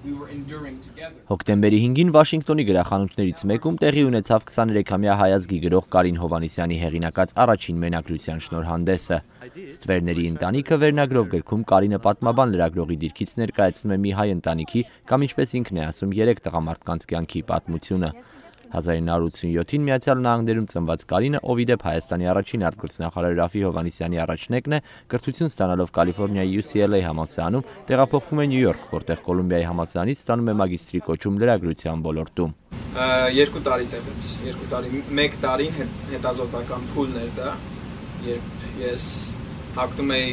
Հոկտեմբերի 5-ին Վաշինգտոնի գրախանութներից մեկում տեղի ունեցավ 23-ամյա հայազգի գրող Կարին Հովհաննիսյանի հեղինակած առաջին մենակրության շնորհանդեսը։ «Ստվերների ընտանիքը» վերնագրով գրքում Կարինը պատմաբան լրագրողի դիրքից ներկայացնում է մի հայ ընտանիքի կամ ինչպես ինքն է ասում 3 տղամարդկանց կյանքի պատմությունը։ 1987-ին Միացյալ Նահանգներում ծնված Կարինը, ով ի դեպ Հայաստանի առաջին արտգործնախարար Ռաֆի Հովհաննիսյանի առաջնեկն է, կրթություն ստանալով Կալիֆոռնիայի UCLA համալսարանում տեղափոխվում է Նյու Յորք, որտեղ Կոլումբիայի համալսարանից ստանում է մագիստրի կոչում լրագրության ոլորտում։ 2 տարի տևեց, 2 տարի, 1 տարին հետազոտական փուլն էր դա, երբ ես հագնում էի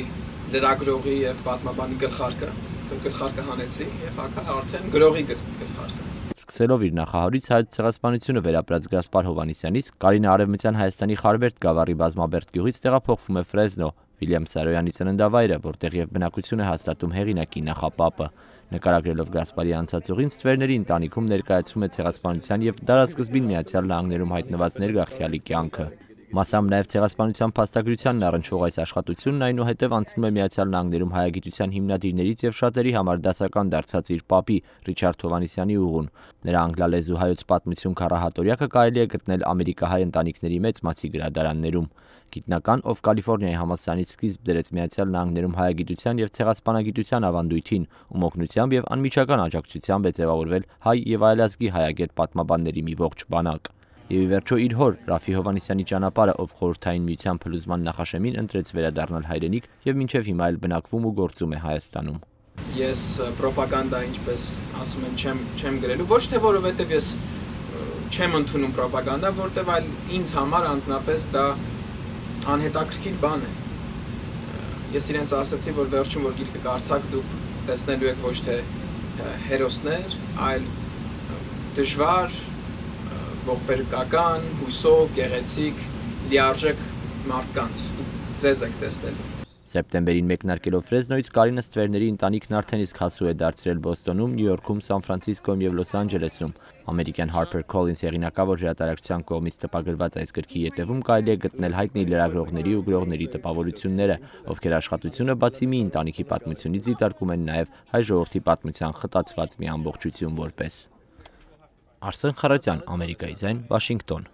լրագրողի եւ պատմաբանի գլխարկը հանեցի եւ արդեն գրողի գլխարկը։ Սկսելով իր նախահարույց հայոց ցեղասպանությունը վերապրած Գասպար Հովհաննիսյանից, Կարինը Արևմտյան Հայաստանի Խարվերդ գավառի Բազմաբերդ գյուղից տեղափոխվում է Ֆրեզնո, Վիլյամ Սարոյանի ծննդավայրը, որտեղ եւ բնակություն է հաստատում հեղինակի նախապապը։ Նկարագրելով Գասպարի անցածուղին, Ստվերների ընտանիքում ներկայացվում է ցեղասպանության եւ դարաշրջին Միացյալ Նահանգներում հայտնված ներգաղթյալի կյանքը։ Մասամբ նաև ցեղասպանության փաստագրությանն առնչվող այս աշխատությունն այնուհետև անցնում է Միացյալ Նահանգներում հայագիտության հիմնադիրներից եւ շատերի համար դասական դարձած իր պապի Ռիչարդ Հովհաննիսյանի ուղուն։ Նրա անգլալեզու հայոց պատմություն քառահատորյակը կարելի է գտնել ամերիկահայ ընտանիքների մեծ մասի գրադարաններում։ Գիտնական, ով Կալիֆոռնիայի համալսարանից սկիզբ դրեց Միացյալ Նահանգներում հայագիտության եւ ցեղասպանագիտության ավանդույթին, ում օգնությամբ եւ անմիջական աջակցությամբ է ձևավորվել հայ եւ այլազգի հայագետ պատմաբանների մի ողջ բանակ։ Եվ ի վերջո իր հոր Ռաֆի Հովհաննիսյանի ճանապարհը, ով Խորհրդային Միության փլուզման նախաշեմին ընտրեց վերադառնալ հայրենիք եւ մինչեւ հիմա էլ բնակվում ու գործում է Հայաստանում։ Ես ռոպագանդա, ինչպես ասում են, չեմ գրելու, ոչ թե որովհետեւ ես չեմ ընդունում ռոպագանդա, որտեւ այլ ինձ համար անձնապես դա անհետաքրքիր բան է։ Ես իրենց ասացի, որ վերջում որ գիրքը կարդաք, դուք տեսնելու եք ոչ թե հերոսներ, այլ դժվար, ողբերգական, հույսով, գեղեցիկ, լիարժեք մարդկանց, ձեզ եք տեսնելու։ Սեպտեմբերին մեկնարկելով Ֆրեզնոյից Կարինը Ստվերների ընտանիքն արդեն իսկ հասու է դարձրել Բոստոնում, Նյու Յորքում, Սան Ֆրանցիսկոյում եւ Լոս Անջելեսում։ Ամերիկյան Harper Collins հեղինակավոր հրատարակչության կողմից տպագրված այս գրքի ետևում կարելի է գտնել հայտնի լրագրողների ու գրողների տպավորությունները, ովքեր աշխատությունը բացի մի ընտանիքի պատմությունից դիտարկում են նաեւ հայ ժողովրդի պատմության խտացված մի ամբողջություն որպես։ Արսեն Խարատյան, Ամերիկայի ձայն, Վաշինգտոն։